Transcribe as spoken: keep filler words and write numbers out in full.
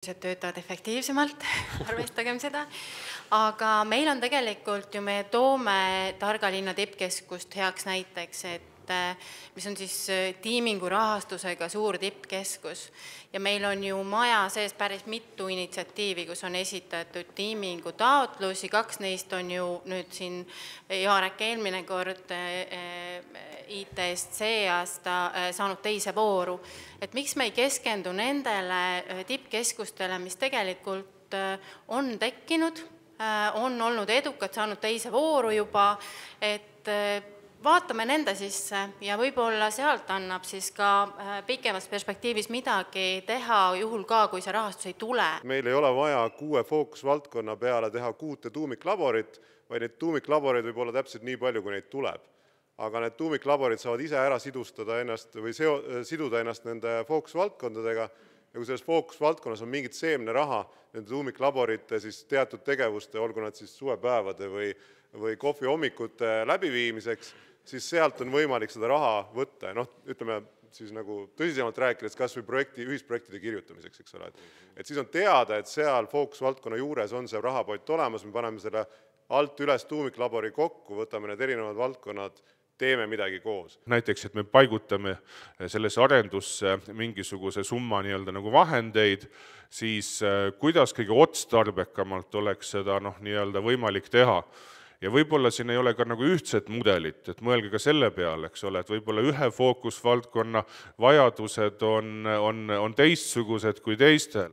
töötavad efektiivsemalt, arvestagem seda, aga meil on tegelikult ju, me toome Targa linna tippkeskust heaks näiteks, et mis on siis tiimingu rahastusega suur tippkeskus ja meil on ju maja sees päris mitu initsiatiivi, kus on esitatud tiimingu taotlusi, kaks neist on ju nüüd siin Jaarek eelmine kord I T S C aasta saanud teise vooru, et miks me ei keskendu nendele tippkeskustele, mis tegelikult on tekkinud, on olnud edukad, saanud teise vooru juba, et vaatame nende sisse ja võib-olla sealt annab siis ka pikemas perspektiivis midagi teha juhul ka, kui see rahastus ei tule. Meil ei ole vaja kuue fookusvaldkonna peale teha kuute tuumiklaborit, vaid neid tuumiklaboreid võib olla täpselt nii palju, kui neid tuleb. Aga need tuumiklaborid saavad ise ära sidustada ennast või seo, siduda ennast nende fookusvaldkondadega ja kui selles fookusvaldkonnas on mingit seemne raha nende tuumiklaborite siis teatud tegevuste, olgu nad siis suvepäevade või, või kohvi hommikute läbiviimiseks, siis sealt on võimalik seda raha võtta. Noh, ütleme siis nagu tõsisemalt rääkides kas või projekti, ühisprojektide kirjutamiseks, eks ole. Et siis on teada, et seal fookusvaldkonna juures on see rahapott olemas, me paneme selle alt üles tuumiklabori kokku, võtame need erinevad valdkonnad, teeme midagi koos. Näiteks, et me paigutame sellesse arendusse mingisuguse summa nii-öelda nagu vahendeid, siis kuidas kõige otstarbekamalt oleks seda noh, nii-öelda võimalik teha. Ja võib-olla siin ei ole ka nagu ühtset mudelit, et mõelge ka selle peale, eks ole, et võib-olla ühe fookusvaldkonna vajadused on, on, on teistsugused kui teistel.